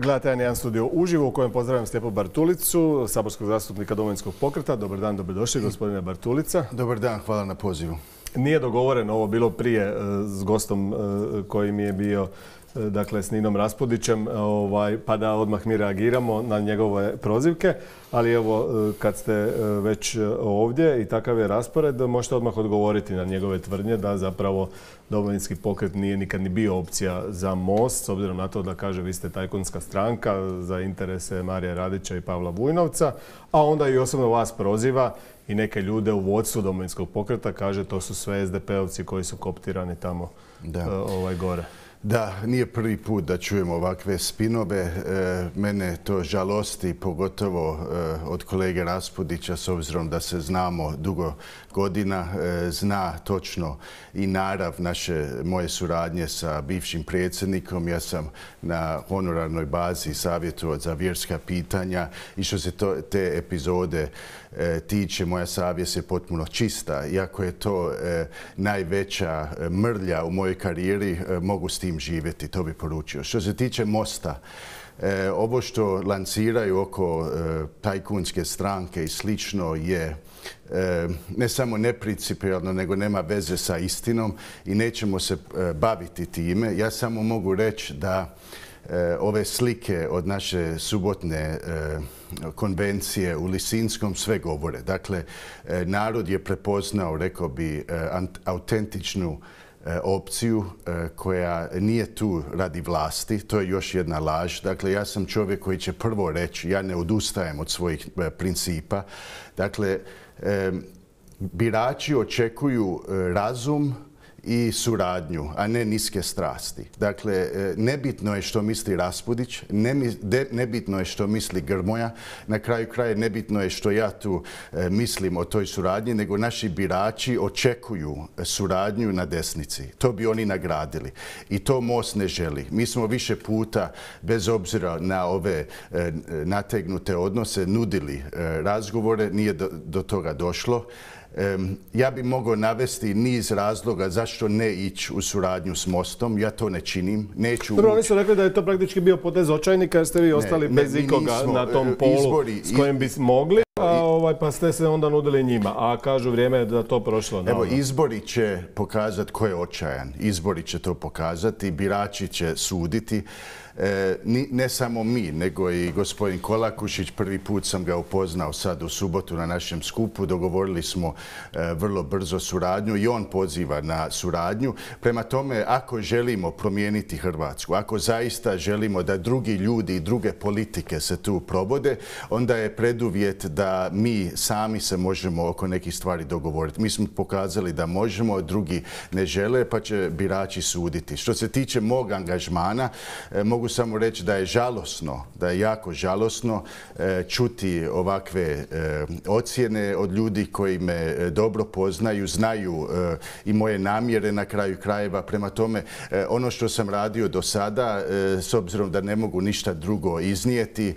Gledajte jedan studio uživo u kojem pozdravljam Stjepu Bartulicu, saborskog zastupnika Domovinskog pokreta. Dobar dan, dobrodošli gospodine Bartulica. Dobar dan, hvala na pozivu. Nije dogovoreno ovo bilo prije s gostom koji mi je bio, dakle s Ninom Raspudićem, pa da odmah mi reagiramo na njegove prozivke. Ali evo, kad ste već ovdje i takav je raspored, možete odmah odgovoriti na njegove tvrdnje da zapravo Domovinski pokret nije nikad ni bio opcija za Most, s obzirom na to da kaže vi ste tajkunska stranka za interese Marija Radića i Pavla Vujnovca, a onda i osobno vas proziva i neke ljude u vodstvu Domovinskog pokreta, kaže to su sve SDP-ovci koji su koptirani tamo gore. Da, nije prvi put da čujemo ovakve spinove. Mene to žalosti, pogotovo od kolege Raspudića, s obzirom da se znamo dugo godina, zna točno i narav moje suradnje sa bivšim predsjednikom. Ja sam na honorarnoj bazi savjetovao za vjerska pitanja i što se te epizode tiče, moja savjest je potpuno čista. Iako je to najveća mrlja u mojoj karijeri, mogu s tim živjeti, to bi poručio. Što se tiče Mosta, ovo što lanciraju oko tajkunske stranke i slično je ne samo neprincipijelno, nego nema veze sa istinom i nećemo se baviti time. Ja samo mogu reći da ove slike od naše subotne konvencije u Lisinskom sve govore. Dakle, narod je prepoznao, rekao bi, autentičnu opciju koja nije tu radi vlasti. To je još jedna laž. Dakle, ja sam čovjek koji će prvo reći ja ne odustajem od svojih principa. Dakle, birači očekuju razum i suradnju, a ne niske strasti. Dakle, nebitno je što misli Raspudić, nebitno je što misli Grmoja, na kraju kraja nebitno je što ja tu mislim o toj suradnji, nego naši birači očekuju suradnju na desnici. To bi oni nagradili. I to Most ne želi. Mi smo više puta, bez obzira na ove nategnute odnose, nudili razgovore, nije do toga došlo. Ja bi mogao navesti niz razloga zašto ne ići u suradnju s Mostom. Ja to ne činim. Neću Prvo, oni su rekli da je to praktički bio potez očajnika jer ste vi ostali bez ikoga na tom polu s kojim bi mogli, pa ste se onda nudili njima. A kažu vrijeme je da to prošlo. Evo, izbori će pokazati ko je očajan. Izbori će to pokazati, birači će suditi. Ne samo mi, nego i gospodin Kolakušić. Prvi put sam ga upoznao sad u subotu na našem skupu. Dogovorili smo vrlo brzo suradnju i on poziva na suradnju. Prema tome, ako želimo promijeniti Hrvatsku, ako zaista želimo da drugi ljudi i druge politike se tu provode, onda je preduvjet da mi sami se možemo oko nekih stvari dogovoriti. Mi smo pokazali da možemo, drugi ne žele, pa će birači suditi. Što se tiče mog angažmana, mogu samo reći da je žalosno, da je jako žalosno čuti ovakve ocjene od ljudi koji me dobro poznaju, znaju i moje namjere na kraju krajeva. Prema tome, ono što sam radio do sada, s obzirom da ne mogu ništa drugo iznijeti,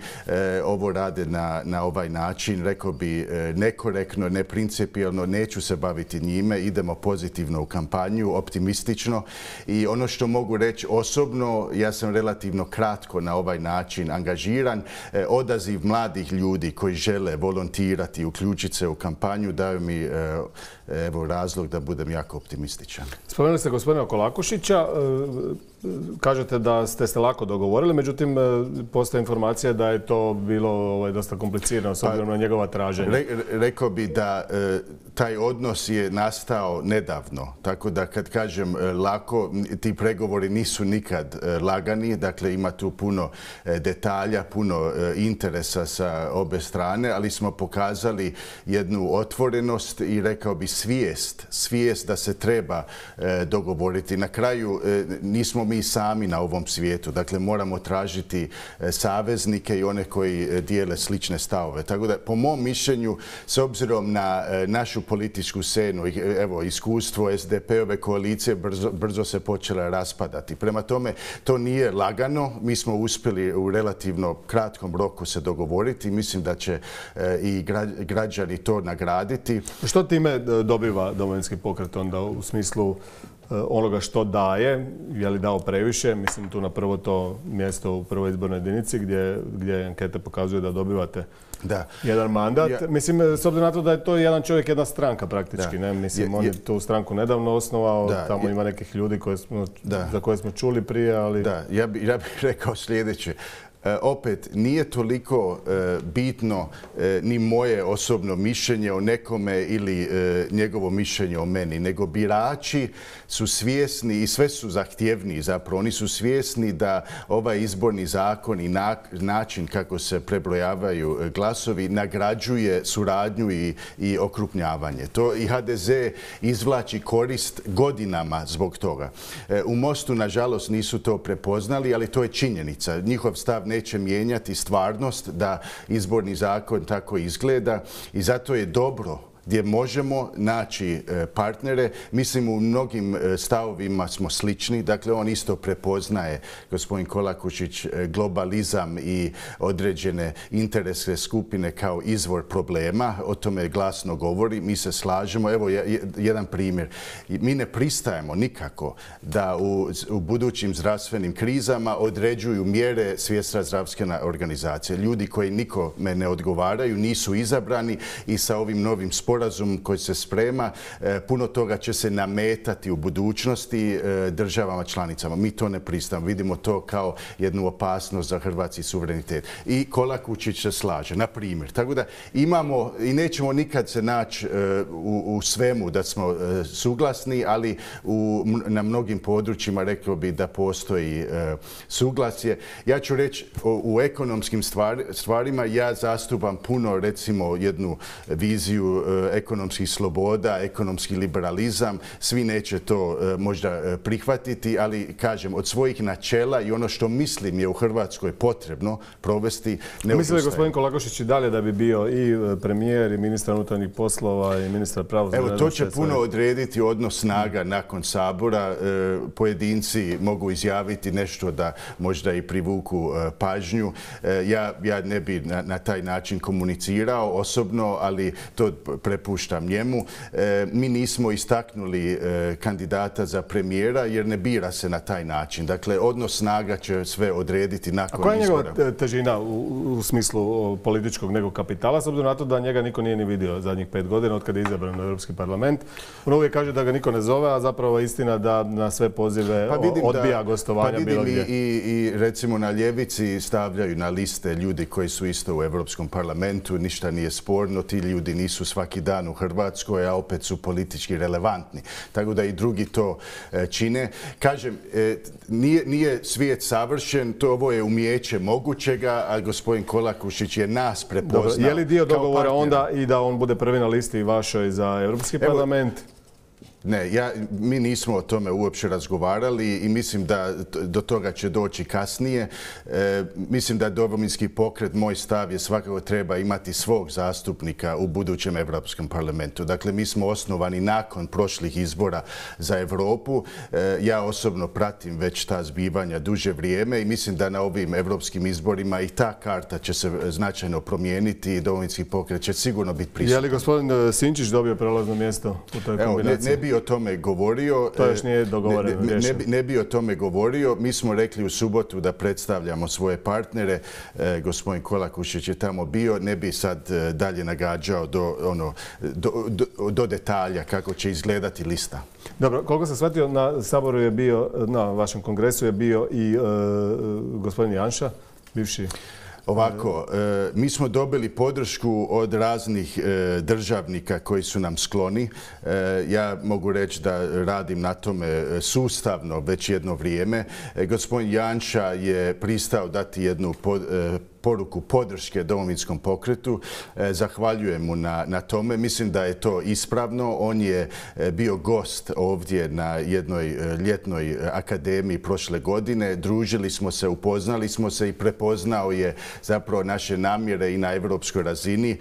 ovo rade na ovaj način, rekao bi nekorektno, neprincipijelno, neću se baviti njime, idemo pozitivno u kampanju, optimistično. I ono što mogu reći osobno, ja sam relativno kratko na ovaj način angažiran. Odaziv mladih ljudi koji žele volontirati, uključiti se u kampanju, daju mi razlog da budem jako optimističan. Spomenuli ste gospodina Kolakušića. Kažete da ste se lako dogovorili, međutim, postoje informacija da je to bilo dosta komplicirano s obzirom na njegova traženja. Rekao bi da taj odnos je nastao nedavno. Tako da kad kažem lako, ti pregovori nisu nikad lagani. Dakle, ima tu puno detalja, puno interesa sa obe strane, ali smo pokazali jednu otvorenost i rekao bi svijest da se treba dogovoriti. Na kraju nismo mi sami na ovom svijetu. Dakle, moramo tražiti saveznike i one koji dijele slične stavove. Tako da, po mom mišljenju, s obzirom na našu političku scenu, evo, iskustvo SDP-ove koalicije brzo se počela raspadati. Prema tome, to nije lagano. Mi smo uspjeli u relativno kratkom roku se dogovoriti. Mislim da će i građani to nagraditi. Što time dobiva Domovinski pokret onda u smislu onoga što daje, je li dao previše, mislim tu na prvo to mjesto u prvoj izbornoj jedinici gdje ankete pokazuju da dobivate jedan mandat. Mislim, s obzirom na to da je to jedan čovjek, jedna stranka praktički. Ne? Mislim, on je tu stranku nedavno osnovao, tamo ima nekih ljudi za koje smo čuli prije, ali... Da, ja bih rekao sljedeće. Opet, nije toliko bitno ni moje osobno mišljenje o nekome ili njegovo mišljenje o meni, nego birači su svjesni i sve su zahtjevniji zapravo. Oni su svjesni da ovaj izborni zakon i način kako se prebrojavaju glasovi nagrađuje suradnju i okrupnjavanje. To i HDZ izvlači korist godinama zbog toga. U Mostu, nažalost, nisu to prepoznali, ali to je činjenica. Njihov stav neće mijenjati stvarnost da izborni zakon tako izgleda i zato je dobro gdje možemo naći partnere. Mislim, u mnogim stavovima smo slični. Dakle, on isto prepoznaje, gospodin Kolakušić, globalizam i određene interesne skupine kao izvor problema. O tome glasno govori. Mi se slažemo. Evo jedan primjer. Mi ne pristajemo nikako da u budućim zdravstvenim krizama određuju mjere Svjetska zdravstvena organizacija. Ljudi koji nikome ne odgovaraju, nisu izabrani i sa ovim novim sporazum koji se sprema, puno toga će se nametati u budućnosti državama članicama. Mi to ne pristajemo. Vidimo to kao jednu opasnost za hrvatski suverenitet. I Kolakušić se slaže, na primjer. Tako da imamo i nećemo nikad se naći u svemu da smo suglasni, ali na mnogim područjima rekao bi da postoji suglasje. Ja ću reći u ekonomskim stvarima ja zastupam puno, recimo, jednu viziju ekonomskih sloboda, ekonomski liberalizam. Svi neće to možda prihvatiti, ali kažem, od svojih načela i ono što mislim je u Hrvatskoj potrebno provesti, ne odustajem. Misli li gospodin Kolakušić i dalje da bi bio i premijer i ministar unutarnjih poslova i ministar pravosuđa? Evo, to će puno odrediti odnos snaga nakon Sabora. Pojedinci mogu izjaviti nešto da možda i privuku pažnju. Ja ne bi na taj način komunicirao osobno, ali to prepuštam njemu. Mi nismo istaknuli kandidata za premijera jer ne bira se na taj način. Dakle, odnos snaga će sve odrediti nakon izbora. A koja je njegova težina u smislu političkog nego kapitala, s obzirom na to da njega niko nije ni vidio zadnjih 5 godina od kada je izabran u Europski parlament? On uvijek kaže da ga niko ne zove, a zapravo je istina da na sve pozive odbija gostovanja bilo gdje. I recimo na ljevici stavljaju na liste ljudi koji su isto u Europskom parlamentu, ništa nije sporno, ti ljudi nisu svaki dan u Hrvatskoj, a opet su politički relevantni. Tako da i drugi to čine. Kažem, nije svijet savršen, ovo je umijeće mogućega, a gospodin Kolakušić je nas prepoznao. Dobro, je li dio dogovora onda i da on bude prvi na listi vašoj za Europski parlament? Ne, mi nismo o tome uopće razgovarali i mislim da do toga će doći kasnije. Mislim da Domovinski pokret, moj stav je svakako treba imati svog zastupnika u budućem Europskom parlamentu. Dakle, mi smo osnovani nakon prošlih izbora za Europu. Ja osobno pratim već ta zbivanja duže vrijeme i mislim da na ovim europskim izborima i ta karta će se značajno promijeniti i Domovinski pokret će sigurno biti prisutan. Je li gospodin Sinčić dobio prelazno mjesto u toj kombinaciji? Ne bi o tome govorio. To još nije dogovoreno. Ne bi o tome govorio. Mi smo rekli u subotu da predstavljamo svoje partnere. Gospodin Kolakušić je tamo bio. Ne bi sad dalje nagađao do detalja kako će izgledati lista. Dobro, koliko sam shvatio, na Saboru je bio, na vašem kongresu je bio i gospodin Janša, bivši. Ovako, mi smo dobili podršku od raznih državnika koji su nam skloni. Ja mogu reći da radim na tome sustavno već jedno vrijeme. Gospodin Janša je pristao dati jednu poruku podrške Domovinskom pokretu. Zahvaljujem mu na tome. Mislim da je to ispravno. On je bio gost ovdje na jednoj ljetnoj akademiji prošle godine. Družili smo se, upoznali smo se i prepoznao je zapravo naše namjere i na europskoj razini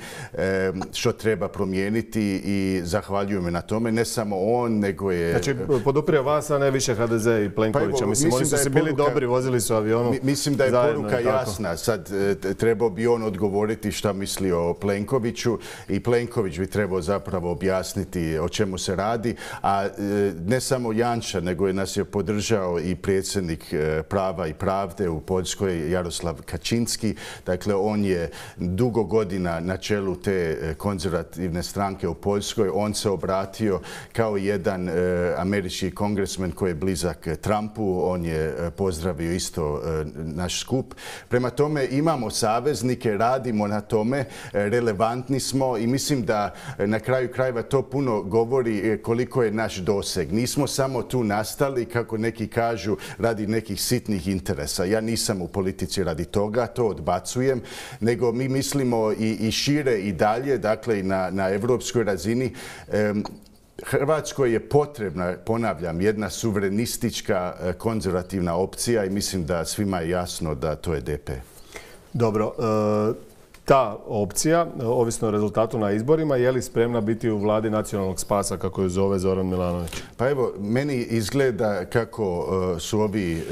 što treba promijeniti i zahvaljujem na tome. Ne samo on, nego je... Znači, poduprio vas, a ne više HDZ i Plenkovića. Mislim, oni su si bili dobri, vozili su avionom. Mislim da je poruka jasna. Sad, trebao bi on odgovoriti šta misli o Plenkoviću i Plenković bi trebao zapravo objasniti o čemu se radi, a ne samo Janša, nego nas je podržao i predsjednik Prava i pravde u Poljskoj, Jaroslav Kaczynski. Dakle, on je dugo godina na čelu te konzervativne stranke u Poljskoj. On se obratio kao jedan američki kongresmen koji je blizak Trumpu. On je pozdravio isto naš skup. Prema tome imamo saveznike, radimo na tome, relevantni smo i mislim da na kraju krajeva to puno govori koliko je naš doseg. Nismo samo tu nastali, kako neki kažu, radi nekih sitnih interesa. Ja nisam u politici radi toga, to odbacujem, nego mi mislimo i šire i dalje, dakle i na evropskoj razini. Hrvatskoj je potrebna, ponavljam, jedna suverenistička konzervativna opcija i mislim da svima je jasno da to je DP. Dobro, ta opcija, ovisno o rezultatu na izborima, je li spremna biti u vladi nacionalnog spasa, kako je zove Zoran Milanović? Pa evo, meni izgleda kako su ovi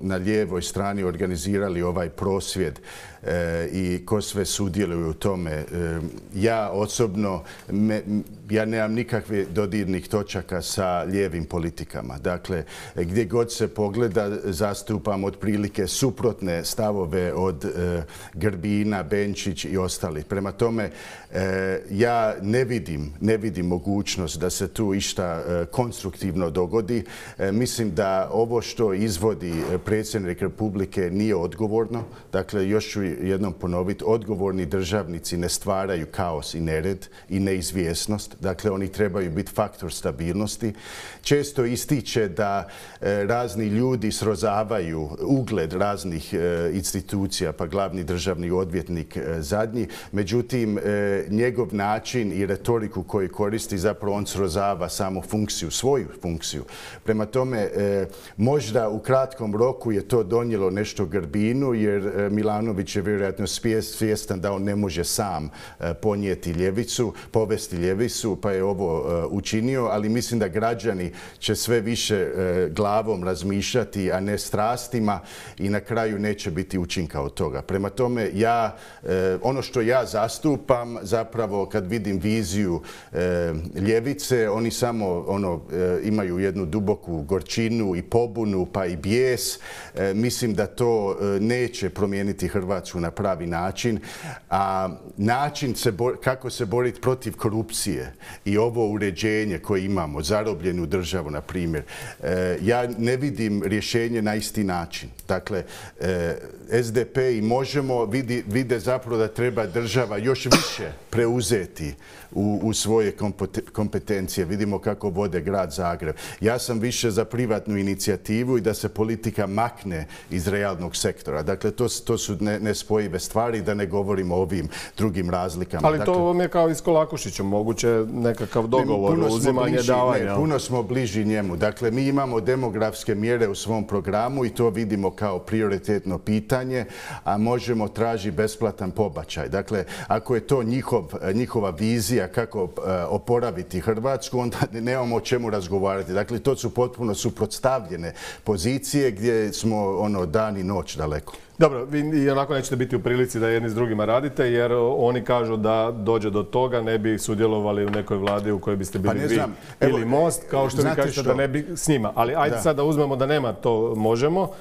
na lijevoj strani organizirali ovaj prosvjed i ko sve sudjeluju u tome. Ja osobno, ja nemam nikakve dodirnih točaka sa lijevim politikama. Dakle, gdje god se pogleda, zastupam otprilike suprotne stavove od Grbina, Benčić i ostali. Prema tome, ja ne vidim mogućnost da se tu išta konstruktivno dogodi. Mislim da ovo što izvodi predsjednik Republike nije odgovorno. Dakle, još ću jednom ponoviti, odgovorni državnici ne stvaraju kaos i nered i neizvjesnost. Dakle, oni trebaju biti faktor stabilnosti. Često ističe da razni ljudi srozavaju ugled raznih institucija, pa glavni državni odvjetnik zadnji. Međutim, njegov način i retoriku koju koristi, zapravo on srozava samo funkciju, svoju funkciju. Prema tome, možda u kratkom roku je to donijelo nešto Grbinu, jer Milanović je vjerojatno svjestan da on ne može sam ponijeti ljevicu, povesti ljevicu, pa je ovo učinio, ali mislim da građani će sve više glavom razmišljati, a ne strastima i na kraju neće biti učinka od toga. Prema tome, ono što ja zastupam, zapravo kad vidim viziju ljevice, oni samo imaju jednu duboku gorčinu i pobunu, pa i bijes. Mislim da to neće promijeniti Hrvatsku na pravi način, a način kako se boriti protiv korupcije i ovo uređenje koje imamo, zarobljenu državu, na primjer, ja ne vidim rješenje na isti način. Dakle, SDP i Možemo vide zapravo da treba država još više preuzeti u svoje kompetencije. Vidimo kako vode grad Zagreb. Ja sam više za privatnu inicijativu i da se politika makne iz realnog sektora. Dakle, to su nespojive stvari, da ne govorimo o ovim drugim razlikama. Ali to vam je kao i s Kolakušićem, moguće nekakav dogovor, uzimanje, davanja. Puno smo bliži njemu. Dakle, mi imamo demografske mjere u svom programu i to vidimo kao prioritetno pitanje, a Možemo traži besplatan pobačaj. Dakle, ako je to njihova vizija kako oporaviti Hrvatsku, onda nemamo o čemu razgovarati. Dakle, to su potpuno suprotstavljene pozicije gdje smo dan i noć daleko. Dobro, vi i onako nećete biti u prilici da jedni s drugima radite, jer oni kažu da dođe do toga, ne bi sudjelovali u nekoj vladi u kojoj biste bili vi ili Most, kao što vi kažete da ne bi s njima. Ali ajde sad da uzmemo da nema to Možemo.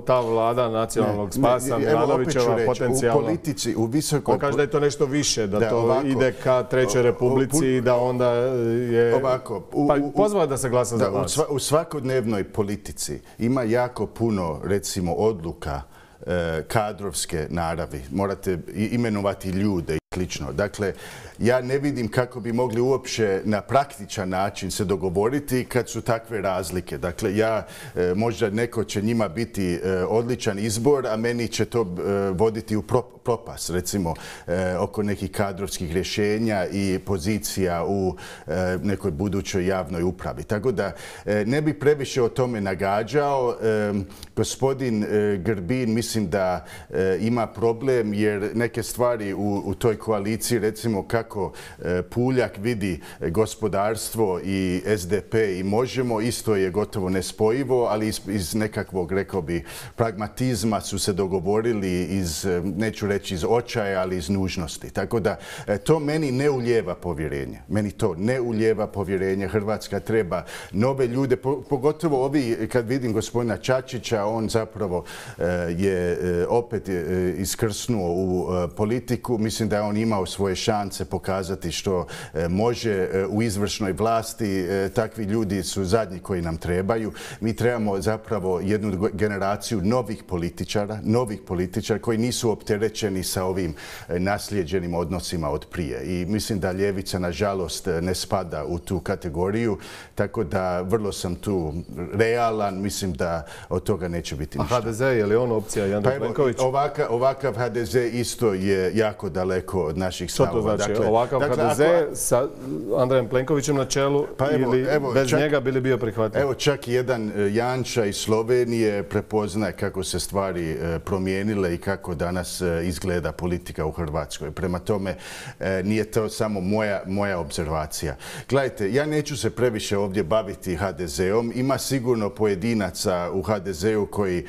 Ta vlada nacionalnog spasa, Milanovićeva, potencijalno. U politici, u visokoj... On kaže da je to nešto više, da to ide ka Trećoj Republici i da onda je... Pa pozvao da se glasa za vas. U svakodnevnoj politici ima jako puno, recimo, odluka kadrovske naravi. Morate imenovati ljude i slično. Dakle, ja ne vidim kako bi mogli uopće na praktičan način se dogovoriti kad su takve razlike. Dakle, možda neko će njima biti odličan izbor, a meni će to voditi u propast, recimo oko nekih kadrovskih rješenja i pozicija u nekoj budućoj javnoj upravi. Tako da ne bi previše o tome nagađao. Gospodin Grbin mislim da ima problem jer neke stvari u toj koaliciji, recimo kako Puljak vidi gospodarstvo i SDP i Možemo, isto je gotovo nespojivo, ali iz nekakvog, rekao bi, pragmatizma su se dogovorili neću reći iz očaja, ali iz nužnosti. Tako da to meni ne ulijeva povjerenje. Meni to ne ulijeva povjerenje. Hrvatska treba nove ljude, pogotovo ovi, kad vidim gospodina Čačića, on zapravo je opet iskrsnuo u politiku. Mislim da je on imao svoje šanse pokazati što može u izvršnoj vlasti. Takvi ljudi su zadnji koji nam trebaju. Mi trebamo zapravo jednu generaciju novih političara koji nisu opterećeni sa ovim naslijeđenim odnosima od prije. I mislim da ljevica, nažalost, ne spada u tu kategoriju, tako da vrlo sam tu realan. Mislim da od toga neće biti ništa. A HDZ, je li on opcija i Andrej Plenković? Ovakav HDZ isto je jako daleko od naših stavova. Što to znači? Ovakav HDZ sa Andrejem Plenkovićem na čelu ili bez njega bi li bio prihvatljiv? Evo, čak jedan Janša iz Slovenije prepoznaje kako se stvari promijenile i kako danas izgleda politika u Hrvatskoj. Prema tome, nije to samo moja obzervacija. Gledajte, ja neću se previše ovdje baviti HDZ-om. Ima sigurno pojedinaca u HDZ-u koji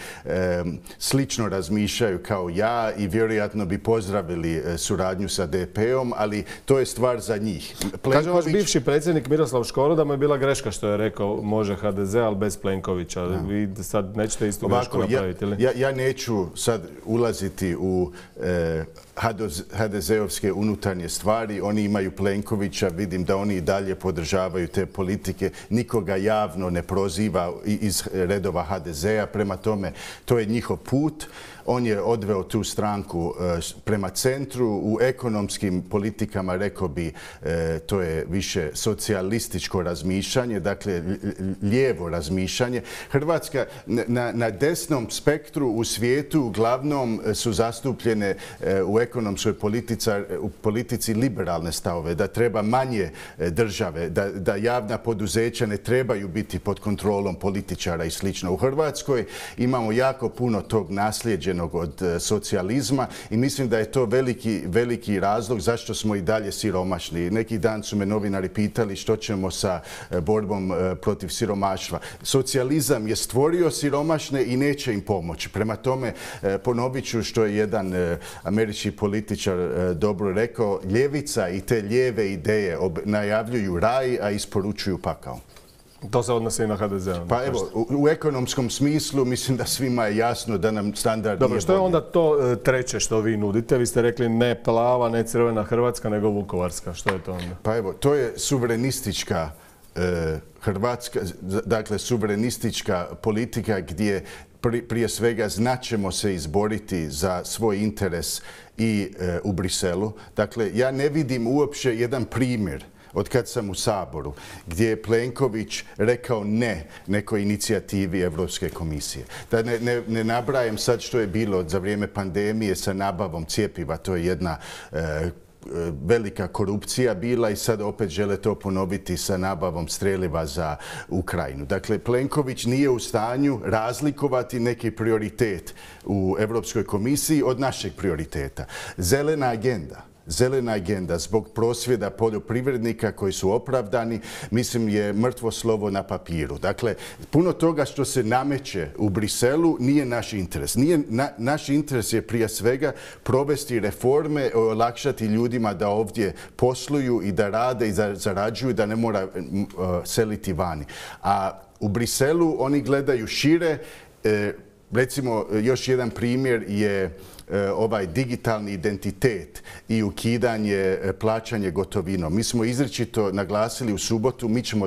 slično razmišljaju kao ja i vjerojatno bi pozdravili suradnju sa DP-om, ali to je stvar za njih. Kaže vaš bivši predsjednik Miroslav Škoro da mu je bila greška što je rekao može HDZ, ali bez Plenkovića. Vi sad nećete istu grešku napraviti, ili? Ja neću sad ulaziti u HDZ-ovske unutarnje stvari. Oni imaju Plenkovića, vidim da oni i dalje podržavaju te politike. Nikoga javno ne proziva iz redova HDZ-a. Prema tome, to je njihov put. On je odveo tu stranku prema centru. U ekonomskim politikama, rekao bi, to je više socijalističko razmišljanje, dakle lijevo razmišljanje. Hrvatska na desnom spektru u svijetu uglavnom su zastupljene u ekonomskoj politici liberalne stavove, da treba manje države, da javna poduzeća ne trebaju biti pod kontrolom političara i slično. U Hrvatskoj imamo jako puno tog nasljeđenog od socijalizma i mislim da je to veliki razlog zašto smo i dalje siromašni. Neki dan su me novinari pitali što ćemo sa borbom protiv siromaštva. Socijalizam je stvorio siromašne i neće im pomoći. Prema tome, ponovit ću što je jedan američki političar dobro rekao, ljevica i te lijeve ideje najavljuju raj, a isporučuju pakao. To se odnosi i na HDZ. Pa evo, u ekonomskom smislu mislim da svima je jasno da nam standard nije bolji. Dobro, što je onda to treće što vi nudite? Vi ste rekli ne plava, ne crvena Hrvatska, nego vukovarska. Što je to onda? Pa evo, to je suverenistička Hrvatska, dakle suverenistička politika gdje prije svega znaćemo se izboriti za svoj interes i u Briselu. Dakle, ja ne vidim uopće jedan primjer od kad sam u Saboru, gdje je Plenković rekao ne nekoj inicijativi Europske komisije. Da ne nabrajem sad što je bilo za vrijeme pandemije sa nabavom cjepiva, to je jedna velika korupcija bila i sad opet žele to ponoviti sa nabavom streljiva za Ukrajinu. Dakle, Plenković nije u stanju razlikovati neki prioritet u Europskoj komisiji od našeg prioriteta. Zelena agenda zbog prosvjeda poljoprivrednika koji su opravdani, mislim, je mrtvo slovo na papiru. Dakle, puno toga što se nameće u Briselu nije naš interes. Naš interes je prije svega provesti reforme, olakšati ljudima da ovdje posluju i da rade i da zarađuju, da ne mora seliti vani. A u Briselu oni gledaju šire. Recimo, još jedan primjer je ovaj digitalni identitet i ukidanje plaćanje gotovinom. Mi smo izričito naglasili u subotu, mi ćemo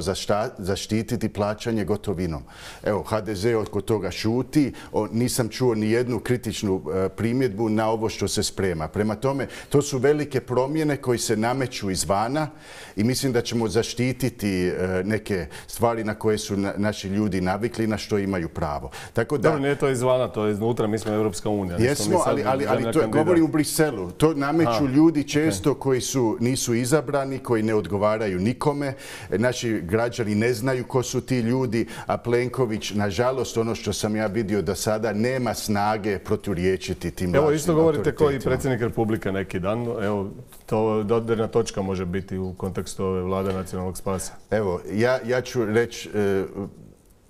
zaštititi plaćanje gotovinom. Evo, HDZ oko toga šuti, nisam čuo ni jednu kritičnu primjedbu na ovo što se sprema. Prema tome, to su velike promjene koji se nameću izvana i mislim da ćemo zaštititi neke stvari na koje su naši ljudi navikli, na što imaju pravo. Tako da, nije to izvana, to je iznutra, mi smo Europska unija. Jesmo, ali to govori u Briselu. To nameću ljudi često koji nisu izabrani, koji ne odgovaraju nikome. Naši građani ne znaju ko su ti ljudi, a Plenković, nažalost, ono što sam ja vidio do sada, nema snage proturječiti tim lažnim autoritetima. Evo, isto govorite kao i predsjednik Republike neki dan. Evo, to dodirna točka može biti u kontekstu ove vlade nacionalnog spasa. Evo, ja ću reći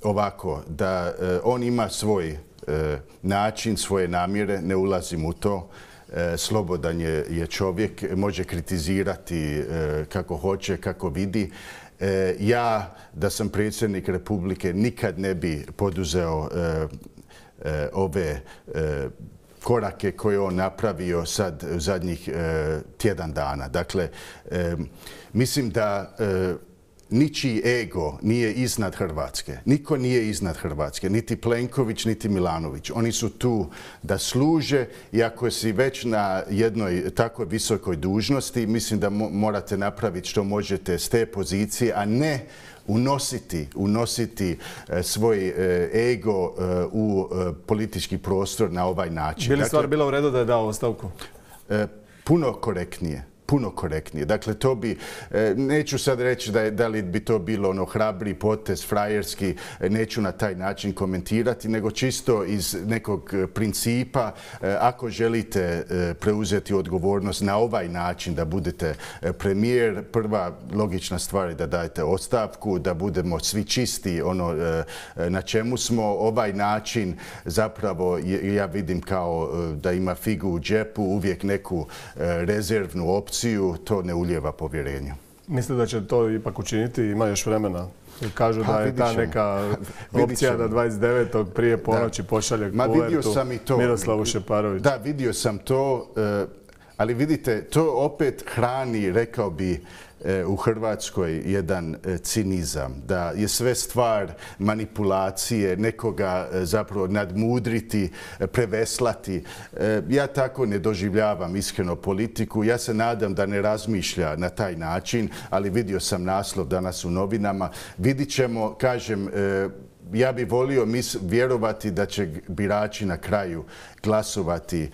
ovako, da on ima svoj način, svoje namjere, ne ulazim u to. Slobodan je čovjek, može kritizirati kako hoće, kako vidi. Ja, da sam predsjednik Republike, nikad ne bi poduzeo ove korake koje on napravio sad u zadnjih tjedan dana. Dakle, mislim da ničiji ego nije iznad Hrvatske. Niko nije iznad Hrvatske. Niti Plenković, niti Milanović. Oni su tu da služe i ako si već na jednoj tako visokoj dužnosti, mislim da morate napraviti što možete s te pozicije, a ne unositi svoj ego u politički prostor na ovaj način. Bi li stvar bila u redu da je dao ostavku? Puno korektnije. Puno korektnije. Dakle, to bi, neću sad reći da li bi to bilo ono hrabri potez, frajerski, neću na taj način komentirati, nego čisto iz nekog principa, ako želite preuzeti odgovornost na ovaj način da budete premijer, prva logična stvar je da dajete ostavku, da budemo svi čisti ono na čemu smo. Ovaj način zapravo ja vidim kao da ima figu u džepu, uvijek neku rezervnu opciju. To ne ulijeva povjerenje. Mislite da će to ipak učiniti? Ima još vremena. Kažu da je ta neka opcija da 29. prije ponoći pošalje kuvertu Miroslavu Šeparoviću. Da, vidio sam to, ali vidite, to opet hrani, rekao bi, u Hrvatskoj jedan cinizam, da je sve stvar manipulacije, nekoga zapravo nadmudriti, preveslati. Ja tako ne doživljavam iskreno politiku. Ja se nadam da ne razmišlja na taj način, ali vidio sam naslov danas u novinama. Vidit ćemo, kažem, ja bih volio vjerovati da će birači na kraju glasovati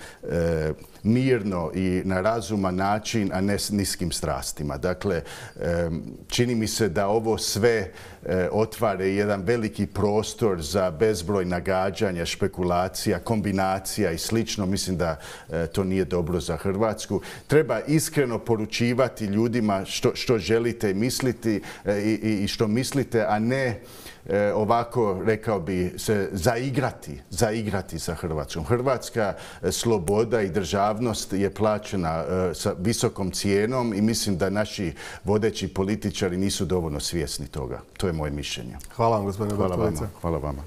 mirno i na razuman način, a ne s niskim strastima. Dakle, čini mi se da ovo sve otvara jedan veliki prostor za bezbroj nagađanja, špekulacija, kombinacija i slično. Mislim da to nije dobro za Hrvatsku. Treba iskreno poručivati ljudima što želite misliti i što mislite, a ne ovako, rekao bi, se zaigrati sa Hrvatskom. Hrvatska sloboda i državnost je plaćena sa visokom cijenom i mislim da naši vodeći političari nisu dovoljno svjesni toga. To je moje mišljenje. Hvala vam, gospodine Bartulica. Hvala vama.